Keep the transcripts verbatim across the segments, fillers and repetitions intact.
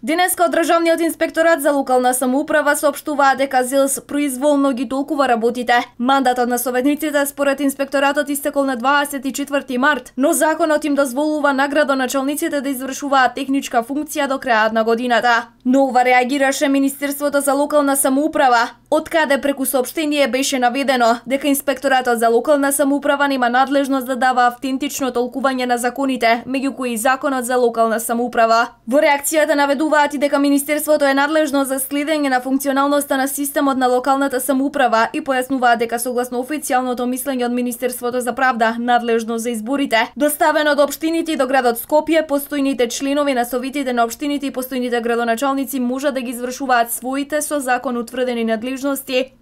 Денеска од Државниот инспекторат за локална самоуправа соопштуваа дека ЗИЛС произволно ги толкува работите. Мандатот на советниците според инспекторатот истекол на дваесет и четврти март, но законот им дозволува на градоначалниците да извршуваат техничка функција до крајот на годината. Но ова реагираше Министерството за локална самоуправа, од каде преку соопштение беше наведено дека инспекторатот за локална самоуправа нема надлежност да дава автентично толкување на законите, меѓу кои и законот за локална самоуправа. Во реакцијата наведуваат и дека Министерството е надлежно за следење на функционалноста на системот на локалната самоуправа и појаснуваат дека согласно официјалното мислење од Министерството за правда, надлежно за изборите, доставено до општините и до градот Скопје, постојните членови на советите на општините и постојните градоначалници можат да ги извршуваат своите со закон утврдени надлежности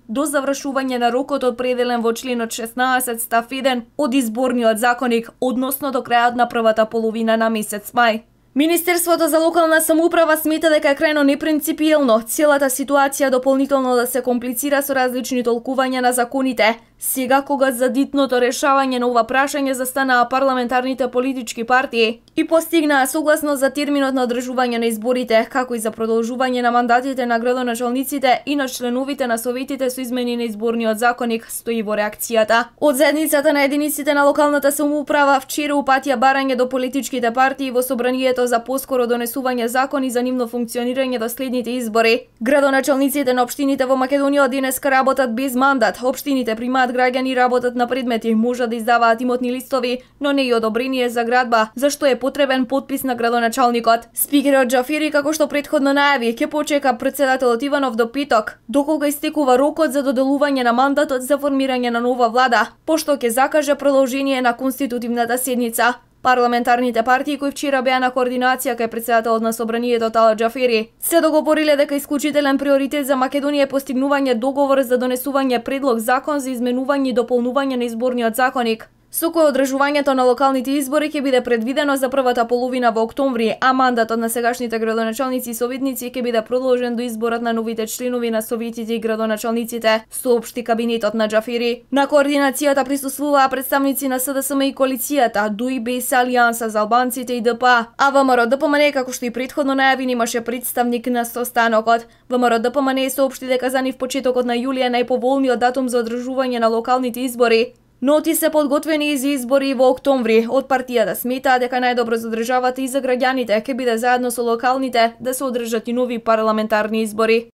до завршување на рокот определен во членот шеснаесет став еден од изборниот законник, односно до крајот на првата половина на месец мај. Министерството за локална самоуправа смета дека е крајно непринципиелно целата ситуација дополнително да се комплицира со различни толкувања на законите, сега кога за дитното решавање на ова прашање застанаа парламентарните политички партии и постигнаа согласност за терминот на одржување на изборите, како и за продолжување на мандатите на градоначалниците и на членовите на советите со измени на изборниот законник, стои во реакцијата. Од заедницата на единиците на локалната самоуправа вчера упатија барање до политичките партии во собранието за поскоро донесување закони за нивно функционирање до следните избори. Градоначалниците на општините во Македонија денеска работат без мандат. Општините примаат граѓани, работат на предмети, можат да издаваат имотни листови, но не и одобрение за градба, зашто е потребен подпис на градоначалникот. Спикерот Џафери, како што претходно најави, ќе почека председателот Иванов до петок, докога истекува рокот за доделување на мандатот за формирање на нова влада, пошто ќе закаже продолжение на конститутивната седница. Парламентарните партии кои вчера беа на координација кај председателот на собранието Талат Џафери се договориле дека исклучителен приоритет за Македонија е постигнување договор за донесување предлог закон за изменување и дополнување на изборниот законник, со кој одржувањето на локалните избори ќе биде предвидено за првата половина во октомври, а мандатот на сегашните градоначалници и советници ќе биде продолжен до изборот на новите членови на советите и градоначалниците, соопшти кабинетот на Џафери. На координацијата присуствуваа представници на СДСМ и коалицијата, ДУИ-БЕС, Алијанса за албанците и ДПА, а ВМРО-ДПМН, како што и претходно најави, немаше представник на состанокот. ВМРО-ДПМН соопшти дека за нив почетокот на јули е најповолниот датум за одржување на локалните избори, но ти се подготвени и за избори во октомври. Од партијата сметаа дека најдобро за државата и за граѓаните ќе биде заедно со локалните да се одржат и нови парламентарни избори.